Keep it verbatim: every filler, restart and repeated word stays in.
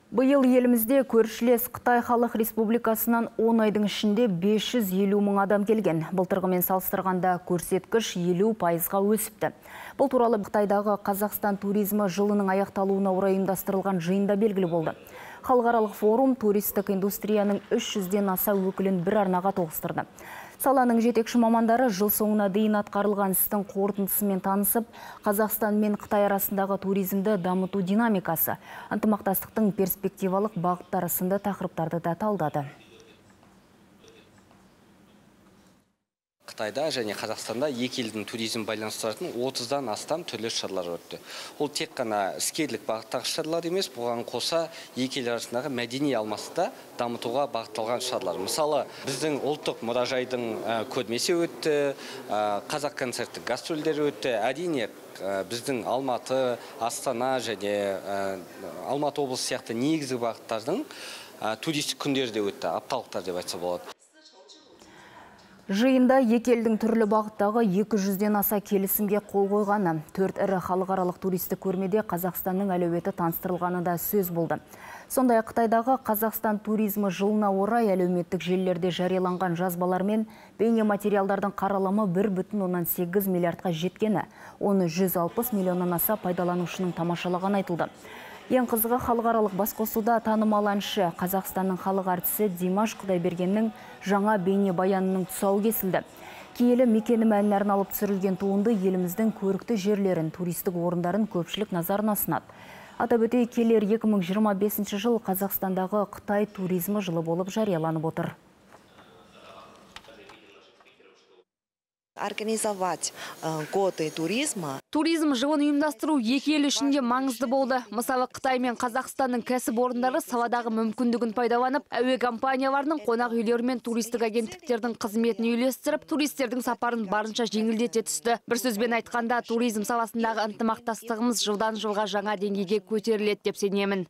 Бұйыл елімізде көршілес Қытай Халық Республикасынан он айдың ішінде бес жүз елу мың адам келген. Былтырғымен салыстырғанда көрсеткіш елу пайызға өсіпті. Бұл туралы Қытайдағы Қазақстан туризмі жылының аяқталуына орай ұйымдастырылған жиында белгілі болды. Халықаралық форум туристік индустрияның үш жүзден аса өкілін бір арнаға тоғыстырды. Саланың жетекші мамандары жыл соңына дейін атқарылған істің қорытындысымен танысып, Қазақстан мен Қытай арасындағы туризмді дамыту динамикасы, ынтымақтастықтың перспективалық бағыттары сынды тақырыптарды да талдады. Қытайда және Қазақстанда екі елдің туризм байланыстыратын отыздан астам түрлі шаралар өтті. Ол тек қана іскерлік бағыттағы шаралар емес, бұған қоса екі ел арасындағы мәдени алмасты дамытуға бағытталған шаралар. Мысалы, біздің ұлттық мұражайдың көрмесі өтті, қазақ концерттік гастрольдері өтті. Әрине, біздің Алматы, Астана және Алматы облысы сияқты негізгі бағыттардың туристік күндері де өтті, апталықтар деп айтса болады. Жиында екі елдің түрлі бағыттағы екі жүзден аса келісімге қол қойғаны, төрт ірі халықаралық туристік көрмеде Қазақстанның әлеуеті таныстырылғаны да сөз болды. Сондай Қытайдағы Қазақстан туризмі жылына орай әлеуметтік желілерде жарияланған жазбалар мен бейне материалдардың қаралымы бір бүтін оннан сегіз миллиардқа жеткені, оны жүз алпыс миллионнан аса пайдаланушының тамашалаған айтылды. Ең қызығы халықаралық басқосуда танымал әнші Қазақстанның халық әртісі Димаш Құдайбергеннің жаңа бейне баянының тұсауы кесілді. Киелі мекенім әніне арналып түсірілген туынды еліміздің көрікті жерлерін, туристік орындарын көпшілік назарына ұсынады. Атап өтейік, келер екі мың жиырма бесінші жыл Қазақстандағы Қытай туризмі жылы болып жарияланып отыр. Организовать годы туризма. Туризм жылын ұйымдастыру екі ел ішінде маңызды болды. Мысалы, Қытай мен Қазақстанның кәсіпорындары саладағы мүмкіндігін пайдаланып, әуе компанияларының, қонақ үйлер мен туристік агенттіктердің қызметін үйлестіріп, туристердің сапарын барынша жеңілдете түсті. Бір сөзбен айтқанда, туризм саласындағы ынтымақтастығымыз жылдан жылға жаңа деңгейге көтеріледі деп сенемін.